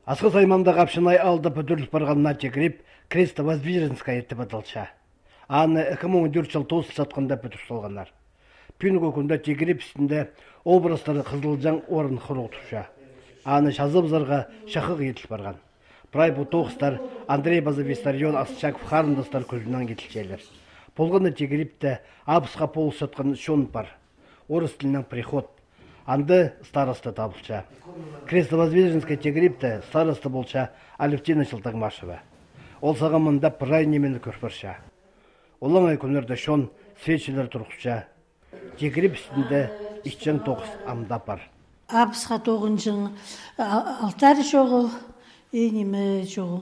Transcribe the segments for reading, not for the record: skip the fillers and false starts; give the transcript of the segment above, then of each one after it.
Асқы сайманда қапшынай алды бүдірлік барғанына жекіріп, Крестово-Воздвиженская етті бадалша. Аны 2014 жыл тосыл жатқанда бүтір солғанар. Пүнгі күнді жекіріп үстінде образтары қызылжан орын құрғытуша. Аны жазып-зарға шақық етіл барған. Прай бұл тоғыстар Андрей Базовистарион Асчаков қарындастар көзінен кетілшелер. Болғаны жекіріпті абысқа полыс жатқан шон бар. Орыс тілінен приход. Анды старосты табылша. Крестово-Воздвиженская жекіріпті старосты болша Алевтина Жылтаңмашева. Ол сағамында прай немені көрпірша. Олаңай күнерді шон свечелер тұрғыша. Жекіріп үстінде ішчен тоғыз амда бар. Абысқа тоғынжың алтар жоғыл, немі жоғыл.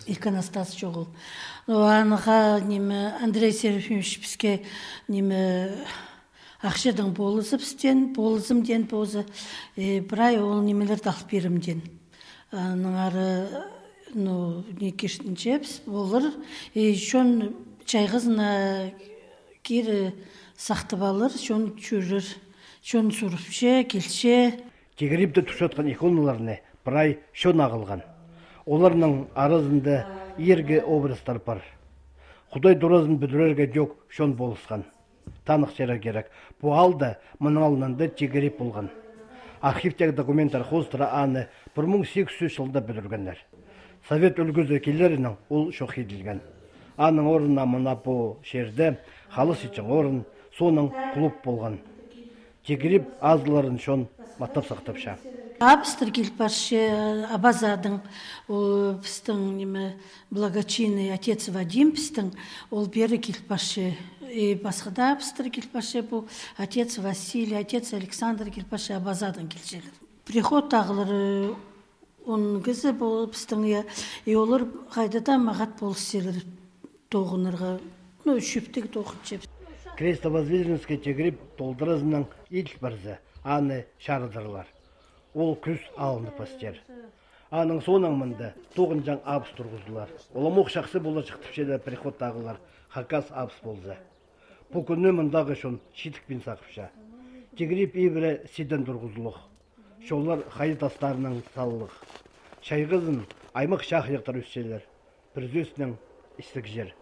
Иконостас жоғыл. Аныға немі Андрей Серафимович бізге немі ақшадан болызым ден бозы, бірай ол немелерді алып берімден. Ныңары не кештінше біз болыр, шон чайғызына кері сақты балыр, шон чүрір, шон сұрыпше, келше. Жекіріпті тұшатқан иконаларыны бірай шон ағылған. Оларының арызында ерге образдар бар. Құдай дұразын бүдірерге жоқ шон болысқан. Танық жері керек. Бұл алды мұның алынында жекіріп болған. Архивтегі документтар қостыра аны 1800 жылда бүдіргендер. Совет үлгізі келерінің ол шоқ еділген. Аның орнына мұна бұл жерде қалыс үшін орын, соның клуб болған. Жекіріп азыларын шон маттап сақтапша. Абыстыр келіп баршы Абазадың, біздің благочинный отец Вадим біздің, ол бері келіп баршы. Басқада абыстыр келіп баршы, бұл отец Василий, отец Александр келіп баршы Абазадың келшелер. Приход тағылыр, оның кізі бұл біздің, олар қайдада мағат болысселер тоғынырға, шөптегі тоғын жеп. Крестово-Воздвиженская жекіріп толдырызының ел барзы, аны шарыдырлар. Ол күз алынды пастер. Аның соның мұнды тоғын жаң абыс тұрғызылар. Оламоқ шақсы бола шықтыпшеді приход тағылар, хакас абыс болзы. Бұл күнні мұндағы шон шитікпен сақыпша. Жекіріп ебірі седен тұрғызылық. Шолар қайы тастарының салылық. Шайғызын аймақ шақ ектар өсселер. Бір зөсінің істік жер.